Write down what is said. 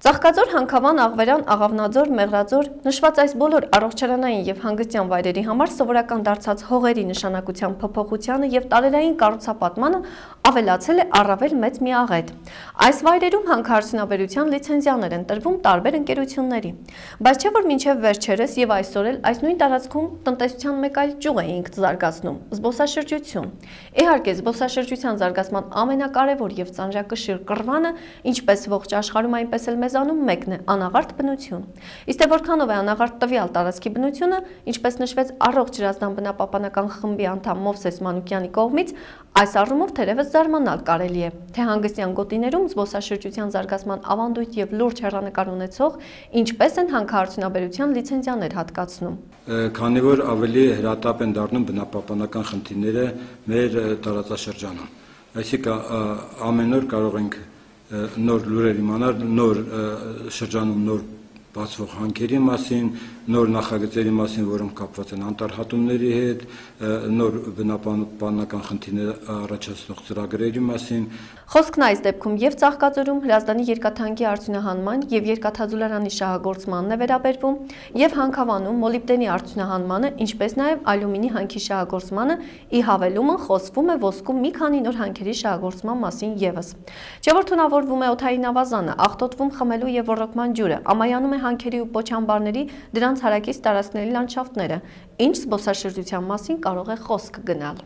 Ծաղկաձոր, Հանքավան, Աղվերան, Աղավնաձոր, Մեղրաձոր նշված այս բոլոր առողջարանային եւ հանգստյան վայրերի համար սովորական դարձած հողերի նշանակության փոփոխությանը եւ տարերային կառուցապատմանը ավելացել է առավել մեծ միաղետ։ Այս վայրերում հանքարդյունաբերության լիցենզիաներ են տրվում տարբեր ընկերությունների, բայց չէ որ մինչեւ վերջերս եւ այսօր էլ այս նույն տարածքում տնտեսության մեկ այլ ճյուղ էինք զարգացնում՝ զբոսաշրջություն։ Իհարկե, զբոսաշրջության զարգացման ամենակարևոր եւ ծանրակշիռ կռվանը, ինչպես ողջ աշխարհում, այնպես էլ անում մեկն է անաղարտ բնություն։ Իսկ թե որքանով է անաղարտ տվյալ տարածքի բնությունը, ինչպես նշվեց առողջ ջրազդան բնապահպանական խմբի անդամ Մովսես Մանուկյանի կողմից, այս առումով թերևս զարմանալ կարելի է, թե հանգստյան գոտիներում զբոսաշրջության զարգացման ավանդույթ եւ լուրջ հեռանկար ունեցող ինչպես են հանքարդյունաբերության լիցենզիաներ հատկացնում։ Քանի որ ավելի հրատապ են դառնում բնապահպանական խնդիրները մեր տարածաշրջանում, այսինքն ամեն օր կարող ենք նոր լուրեր իմանալ, նոր շրջանում նոր բացվող հանքերի մասին, նոր նախագծերի մասին, որոնք կապված են անտառհատումների հետ, նոր բնապահպանական խնդիրներ առաջացնող ծրագրերի մասին։ Խոսքն այս դեպքում եւ Ծաղկաձորում Հրազդանի երկաթանկի արդյունահանման եւ երկաթաձուլարանի շահագործմանն է վերաբերվում, եւ Հանքավանում մոլիբդենի արդյունահանմանը, ինչպես նաեւ ալյումինի հանքի շահագործմանը, ի հավելումը խոսվում է ոսկու մի քանի նոր հանքերի շահագործման մասին եւս։ Չէ որ թունավորվում է օդային ավազանը, աղտոտվում խմելու եւ ոռոգման ջուրը, ամայանում է հանքերի ու պոչամբարների դրանց հարակից տարածքների լանդշաֆտները, ինչ զբոսաշրջության մասին կարող է խոսք գնալ։